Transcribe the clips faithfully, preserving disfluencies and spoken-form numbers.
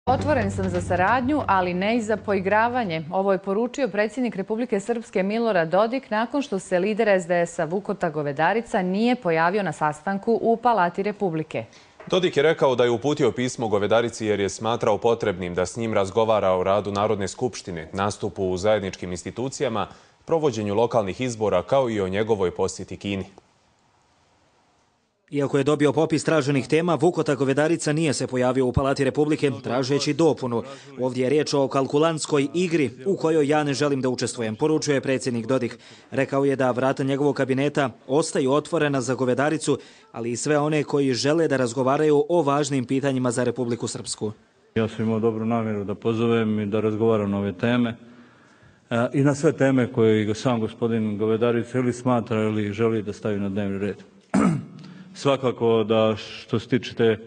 Otvoren sam za saradnju, ali ne i za poigravanje. Ovo je poručio predsjednik Republike Srpske Milorad Dodik nakon što se lider es de es a Vukota Govedarica nije pojavio na sastanku u Palati Republike. Dodik je rekao da je uputio pismo Govedarici jer je smatrao potrebnim da s njim razgovara o radu Narodne skupštine, nastupu u zajedničkim institucijama, provođenju lokalnih izbora kao i o njegovoj posjeti Kini. Iako je dobio popis traženih tema, Vukota Govedarica nije se pojavio u Palati Republike tražeći dopunu. Ovdje je riječ o kalkulantskoj igri u kojoj ja ne želim da učestvujem, poručuje predsjednik Dodik. Rekao je da vrata njegovog kabineta ostaju otvorena za Govedaricu, ali i sve one koji žele da razgovaraju o važnim pitanjima za Republiku Srpsku. Ja sam imao dobru namjeru da pozovem i da razgovaram na ove teme i na sve teme koje sam gospodin Govedarica ili smatra ili želi da stavi na dnevni red. Svakako da što se tiče te,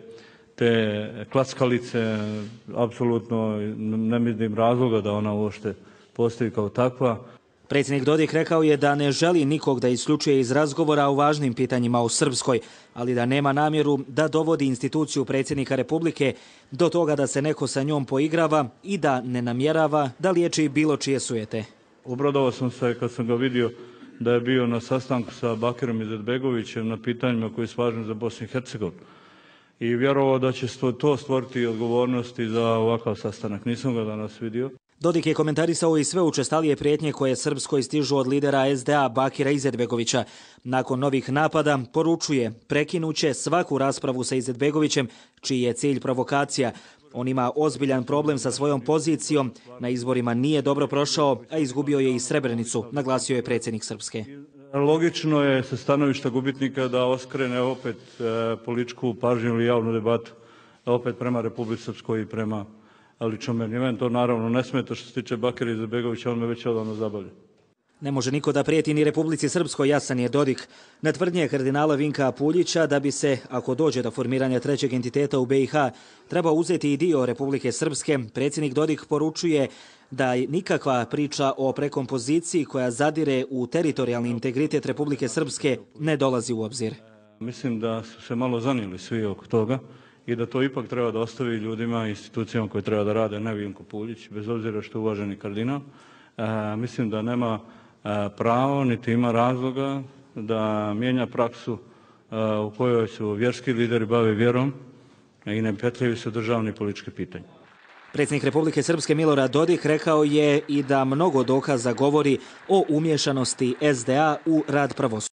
te klackalice, apsolutno ne vidim razloga da ona uopšte postoji kao takva. Predsjednik Dodik rekao je da ne želi nikog da isključuje iz razgovora o važnim pitanjima u Srpskoj, ali da nema namjeru da dovodi instituciju predsjednika Republike do toga da se neko sa njom poigrava i da ne namjerava da liječi bilo čije sujete. Obradovao sam se kad sam ga vidio da je bio na sastanku sa Bakirom Izetbegovićem na pitanjima koji su važni za Bosnu i Hercegovinu. I vjerovao da će to stvoriti odgovornosti za ovakav sastanak. Nisam ga danas vidio. Dodik je komentarisao i sve učestalije prijetnje koje Srpskoj stižu od lidera es de a Bakira Izetbegovića. Nakon novih napada poručuje prekinuće svaku raspravu sa Izetbegovićem, čiji je cilj provokacija. On ima ozbiljan problem sa svojom pozicijom, na izborima nije dobro prošao, a izgubio je i Srebrenicu, naglasio je predsjednik Srpske. Logično je sa stanovišta gubitnika da oskrene opet političku pažnju ili javnu debatu, opet prema Republici Srpskoj i prema ličnom meni. Meni to naravno ne smeta što se tiče Bakira Izetbegovića, on me već odavno zabavlja. Ne može niko da prijeti ni Republici Srpskoj, jasan je Dodik. Na tvrdnje kardinala Vinka Puljića da bi se, ako dođe do formiranja trećeg entiteta u be i ha, treba uzeti i dio Republike Srpske, predsjednik Dodik poručuje da nikakva priča o prekompoziciji koja zadire u teritorijalni integritet Republike Srpske ne dolazi u obzir. Mislim da su se malo zanijeli svi oko toga i da to ipak treba da ostavi ljudima i institucijama koje treba da rade, ne Vinko Puljić, bez obzira što je uvaženi kardinal. E, mislim da nema pravo, niti ima razloga da mijenja praksu u kojoj su vjerski lideri bave vjerom i ne petljuju se državni politički pitanja. Predsjednik Republike Srpske Milorad Dodik rekao je i da mnogo dokaza govori o umješanosti es de a u rad pravosuđa.